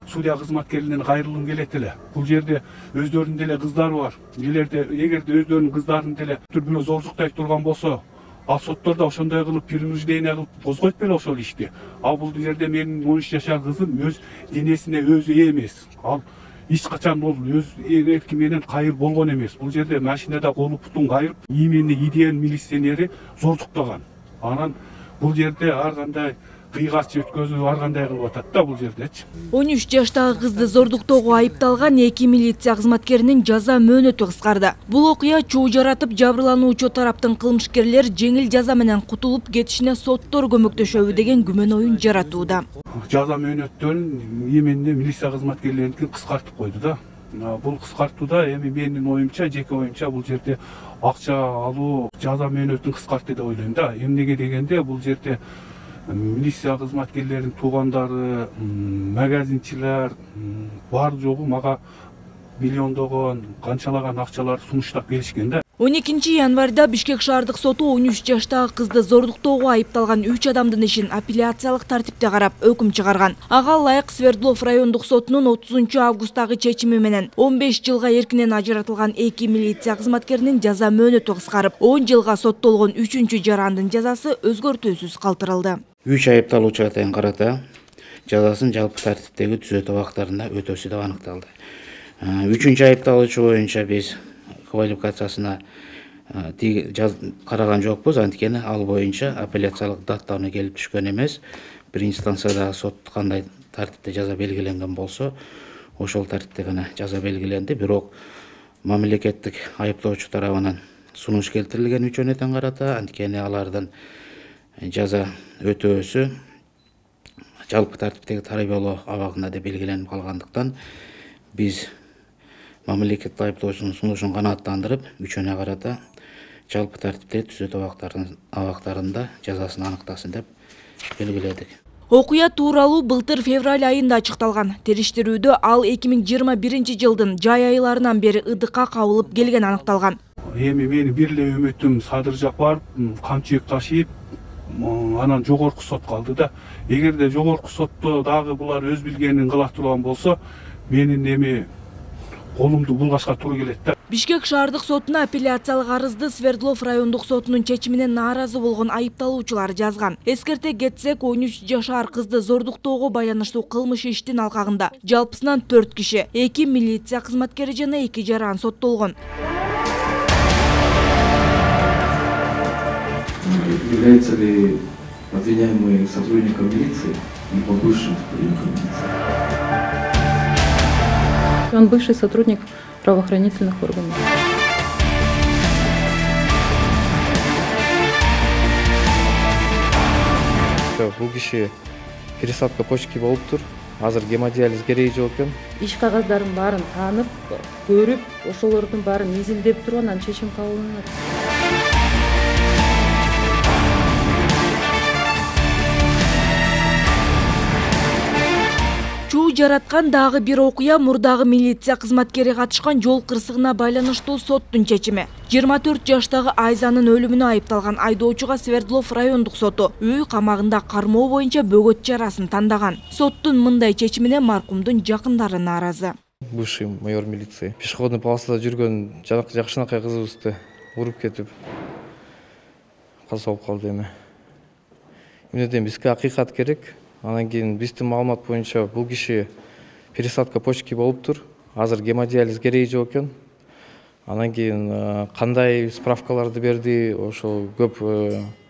судья кызматкерлеринен кайрылгым келет эле. Бул жерде өздөрүнүн деле кыздары бар. Эгерде өздөрүнүн кыздарынын деле бирөө зордуктай турган болсо, ал соттордо ошондой кылып принуждение кылып козгойт беле ошол ишти. А бул жерде менин 13 жашар кызым өз денесине өзү ээ эмес. Ал эч качан бол өз эрки менен кайыр болгон эмес. Бул жерде машинада колу бутун кайрып, имени идеян милиционери зордуктаган. Анан бул жерде ар кандай кыйгач өткөзүп, ар кандай кылып атат да бул жердечи. 13 жаштагы кызды зордуктоого айыпталган 2 милиция кызматкеринин жаза мөөнөтү кыскарды. Бул окуя чуу жаратып, жабырлануучу тараптын кылмышкерлер жеңил жаза менен кутулуп кетишине соттор көмөктөшөбү деген күмөн оюн жаратууда. Жаза мөөнөттөрүн эменде милиция кызматкерлеринин кыскартып койду да. Бул кыскартууда эми менин оюмча, жеке оюмча бул жерде акча алуу жаза мөөнөтүн кыскартты деп ойлойм да. Эмнеге дегенде бул жерде милиция кызматкерлеринин туугандары, магазинчилер бар жогу мага миллиондогон, канчалаган акчалар сунуштап келишкен да. 12 январда Бишкек шаардык соту 13 жаштагы кызды зордуктоого айыпталган 3 адамдын ишин апелляциялык тартипте карап өкүм чыгарган. Ага ылайык Свердлов райондук сотунун 30 августтагы чечими менен 15 жылга эркинен ажыратылган 2 милиция кызматкеринин жаза мөөнөтү кыскарып, 10 жылга соттолгон 3-чү жарандын жазасы өзгөртүүсүз калтырылды. 3 айыпталуучуга тең карата жазасын жалпы тартиптеги түзөтүү убактарында өтөсү деп аныкталды. 3-чү айыпталуучу боюнча биз квалификациясына караган жокпуз, анткени ал боюнча апелляциялык даттануу келип түшкөн эмес. Биринчи станцияда сот кандай тартипте жаза белгиленген болсо, ошол тартипте гана жаза белгиленди. Бирок мамлекеттик айыптоочу тарабынан сунуш келтирилген 3 өнөтөн карата, анткени алардын жаза өтөөсү жалпы тартиптеги тарабиялоо абагында деп белгиленип калгандыктан биз мамлекеттик айыптоочунун сунушун канааттандырып, 3 карата жалпы тартипте түзөтүү абактарында жазасын аныктасын деп белгиледик. Окуя тууралуу былтыр февраль айында ачыкталган. Териштирүүдө ал 2021 жылдын жай айларынан бери ыдыкка кабылып келген аныкталган. Эми менин бир эле үмүтүм Садыржак барып, камчык ташыйп, анан жогорку сотко алды да. Эгерде жогорку сотто дагы булар өз билгенин кыла турган болсо, менин эми колумду булгашка туура келет да. Бишкек шаардык сотуна апелляциялык арызды Свердлов райондук сотунун чечимине нааразы болгон айыпталуучулар жазган. Эскерте кетсек, 13 жашар кызды зордуктоого байланыштуу кылмыш иштин алкагында жалпысынан 4 киши, 2 милиция кызматкери жана 2 жаран соттолгон. Является ли обвиняемый сотрудником милиции либо бывшим сотрудником милиции? Он бывший сотрудник правоохранительных органов. Бул киши пересадка почки болуптур. Азыр гемодиализ кереги жок экен. Иш кагаздарын баарын таанып, көрүп, ошолордун баарын изилдеп туруп анан чечим кабылданат. Чуу жараткан дагы бир окуя мурдагы милиция кызматкери катышкан жол кырсыгына байланыштуу соттун чечими. 24 жаштагы Айзанын өлүмүнө айыпталган айдоочуга Свердлов райондук соту үй камагында кармоо боюнча бөгөт жарасын тандаган. Соттун мындай чечимине маркумдун жакындары нааразы. Бывший майор милиции пешеходный полосада жүргөн жакшынакай кызыбызды уруп кетип каза болуп калды эми. Эмнеден бизге акыйкат керек. Анан кийин биздин маалымат боюнча бул киши пересадка почки болуптур. Азыр гемодиализ кереги жок экен. Анан кийин кандай справкаларды берди, ошол көп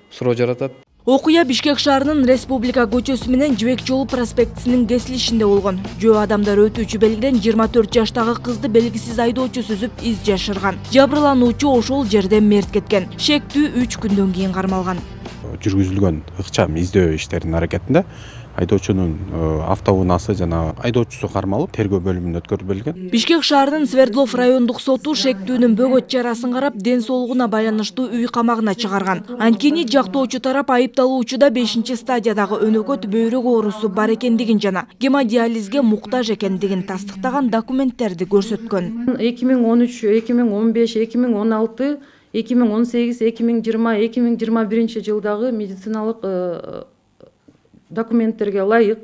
суроо жаратат. Окуя Бишкек шаарынын Республика көчөсү менен Жибек жолу проспектисинин кесилишинде болгон. Жөө адамдар өтүүчү белгиден 24 жаштагы кызды белгисиз айдоочу сүзүп из жашырган. Жабырлануучу ошол жерден мерт кеткен. Шектүү 3 күндөн кийин кармалган. Жүргүзүлгөн ыкчам издөө иштеринин аракетинде айдоочунун автоунаасы жана айдоочусу кармалып тергөө бөлүмүнө өткөрүлгөн. Бишкек шаарынын Свердлов райондук соту шектүүнүн бөгөт жарасын карап, ден соолугуна байланыштуу үй камагына чыгарган. Анткени жактоочу тарап айыпталуучуда 5-стадиядагы өнөкөт бөйрөк оорусу бар экендигин жана гемодиализге муктаж экендигин тастыктаган документтерди көрсөткөн. 2013, 2015, 2016 2018, 2020, 2021 жылдагы медициналык документтерге ылайык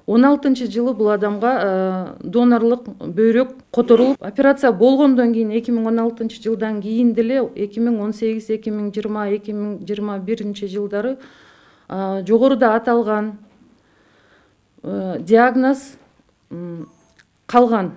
2016-жылы бул адамга донорлук бөйрөк которулуп, операция болгондон кийин 2016-жылдан кийин деле 2018, 2020, 2021 жогоруда аталган диагноз калган.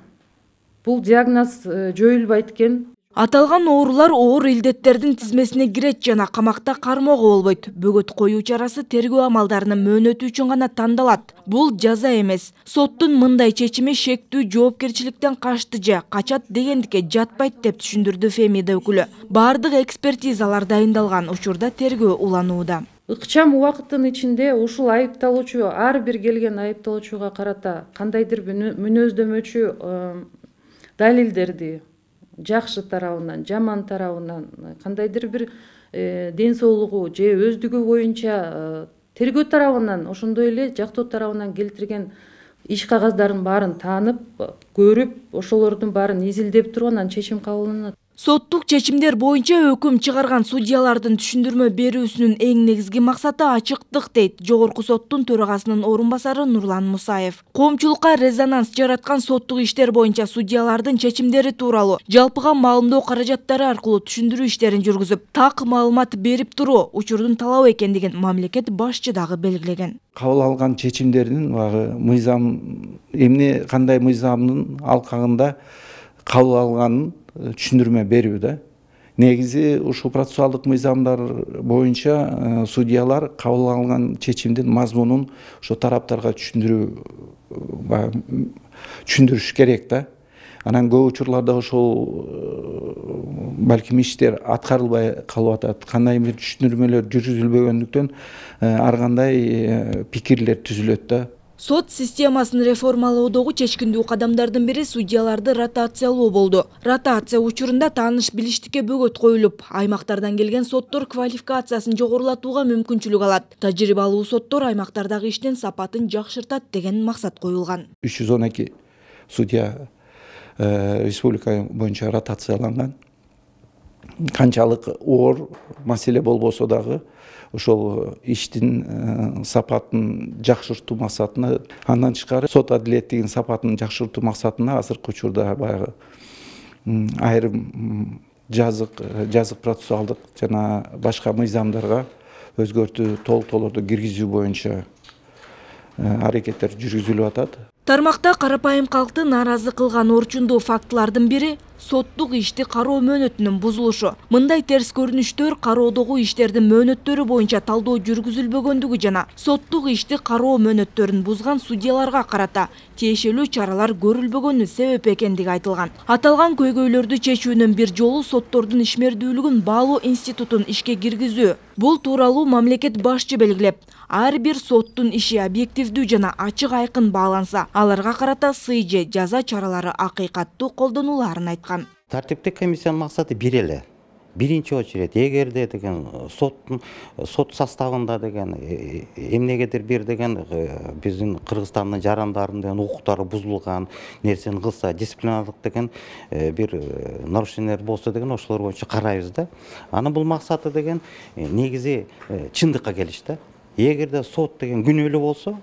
Бул диагноз жоюлбайт экен. Аталган оорулар оор илдеттердин тизмесине кирет жана камакта кармоого болбойт. Бөгөт коюу чарасы тергөө амалдарынын мөөнөтү үчүн гана тандалат. Бул жаза эмес. Соттун мындай чечими шектүү жоопкерчиликтен качты же качат дегендикке жатпайт деп түшүндүрдү Фемида өкүлү. Бардык экспертизалар дайындалган, учурда тергөө уланууда. Ыкчам убакыттын ичинде ушул айыпталуучу ар бир келген айыпталуучуга карата кандайдыр мүнөздөмөчү далилдерди жакшы тарабынан, жаман тарабынан, кандайдыр бир ден соолугу же өздүгү боюнча тергөө тарабынан, ошондой эле жактоо тарабынан келтирген иш кагаздарын баарын таанып, көрүп, ошолордун баарын изилдеп туруп анан чечим кабыл. Соттук чечимдер боюнча өкүм чыгарган судьялардын түшүндүрмө берүүсүнүн эң негизги максаты ачыктык, дейт Жогорку соттун төрагасынын орун басары Нурлан Мусаев. Коомчулукка резонанс жараткан соттук иштер боюнча судьялардын чечимдери тууралуу жалпыга маалымдоо каражаттары аркылуу түшүндүрүү иштерин жүргүзүп, так маалымат берип туруу учурдун талабы экендигин мамлекет башчы дагы белгилеген. Кабыл алган чечимдердин мыйзам эмне кандай мыйзамдын алкагында кабыл алганын түшүндүрмө берүү да. Негизи ушул процессуалдык мыйзамдар боюнча судьялар кабыл алган чечимдин мазмунун ошо тараптарга түшүндүрүш керек да. Анан көп учурларда ошол балким иштер аткарылбай калып атат. Кандай бир түшүндүрмөлөр жүргүзүлбөгөндүктөн ар кандай пикирлер түзүлөт да. Сот системасын реформалоодогу чечкиндүү кадамдардын бири судьяларды ротациялоо болду. Ротация учурунда тааныш билиштикке бөгөт коюлуп, аймактардан келген соттор квалификациясын жогорулатууга мүмкүнчүлүк алат. Тажрыйбалуу соттор аймактардагы иштин сапатын жакшыртат деген максат коюлган. 312 судья республика боюнча ротацияланган. Канчалык оор маселе болбосо дагы ошол иштин сапатын жакшыртуу максатына, андан тышкары сот адилеттигинин сапатын жакшыртуу максатына азыркы учурда баягы айрым жазык процессуалдык жана башка мыйзамдарга өзгөртүү толуктоолорду киргизүү боюнча аракеттер жүргүзүлүп атат. Тармакта карапайым калкты нааразы кылган орчундуу фактылардын бири соттук ишти кароо мөөнөтүнүн бузулушу. Мындай терс көрүнүштөр кароодогу иштердин мөөнөттөрү боюнча талдоо жүргүзүлбөгөндүгү жана соттук ишти кароо мөөнөттөрүн бузган судьяларга карата тиешелүү чаралар көрүлбөгөнү себеп экендиги айтылган. Аталган көйгөйлөрдү чечүүнүн бир жолу соттордун ишмердүүлүгүн баалоо институтун ишке киргизүү. Бул тууралуу мамлекет башчы белгилеп, ар бир соттун иши объективдүү жана ачык айкын бааланса, аларга карата сый же жаза чаралары акыйкаттуу колдонуларын айткан. Тартиптик комиссиянын максаты бир эле. Биринчи очередь, эгерде деген сот составында деген эмнегедир бир деген биздин Кыргызстандын жарандарынын укуктары бузулган нерсени кылса, дисциплинардык деген бир нарушениялар болсо деген ошолор боюнча карайбыз да. Анын бул максаты деген негизи чындыкка келиш да. Эгерде сот деген күнөөлүү болсо,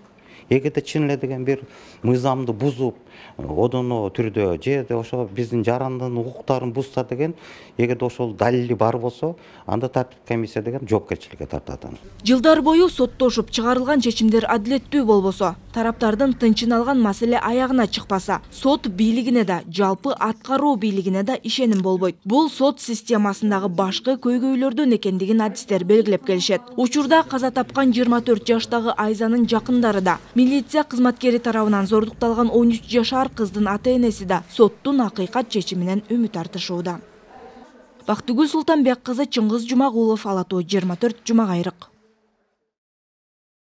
эгерде чын эле деген бир мыйзамды бузуп, одоно түрдө же ошо биздин жарандын укуктарын бузса деген, эгерде ошол далили бар болсо, анда тартиптик комиссия деген жоопкерчиликке тартат. Жылдар бою соттошуп чыгарылган чечимдер адилеттүү болбосо, тараптардын тынчын алган маселе аягына чыкпаса, сот бийлигине да, жалпы аткаруу бийлигине да ишеним болбойт. Бул сот системасындагы башкы көйгөйлөрдөн экендигин адистер белгилеп келишет. Учурда каза тапкан 24 жаштагы Айзанын жакындары да, милиция кызматкери тарабынан зордукталган 13 жашар кыздын ата-энеси да соттун акыйкат чечиминен үмүт артышууда. Бактыгүл Султанбек кызы, Чыңгыз Жумагулов, Ала Тоо 24 Жумагайрык.